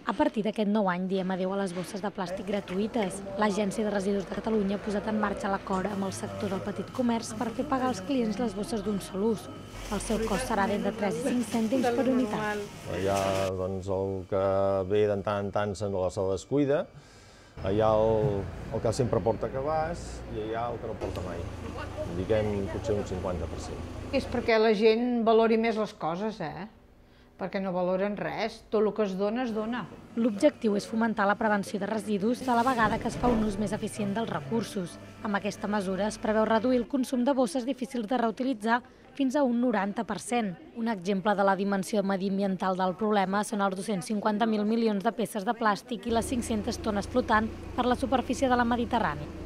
A partir d'aquest nou any diem adéu a les bosses de plàstic gratuïtes. L'Agència de Residus de Catalunya ha posat en marxa l'acord amb el sector del petit comerç per fer pagar als clients les bosses d'un sol ús. El seu cost serà d'entre 3 i 5 cèntims per unitat. Hi ha el que ve de tant en tant se descuida, hi ha el que sempre porta cabàs i hi ha el que no porta mai. Diguem potser un 50%. És perquè la gent valori més les coses, perquè no valoren res, tot el que es dona, es dona. L'objectiu és fomentar la prevenció de residus a la vegada que es fa un ús més eficient dels recursos. Amb aquesta mesura es preveu reduir el consum de bosses difícils de reutilitzar fins a un 90%. Un exemple de la dimensió mediambiental del problema són els 250.000 milions de peces de plàstic i les 500 tones flotant per la superfície de la Mediterrània.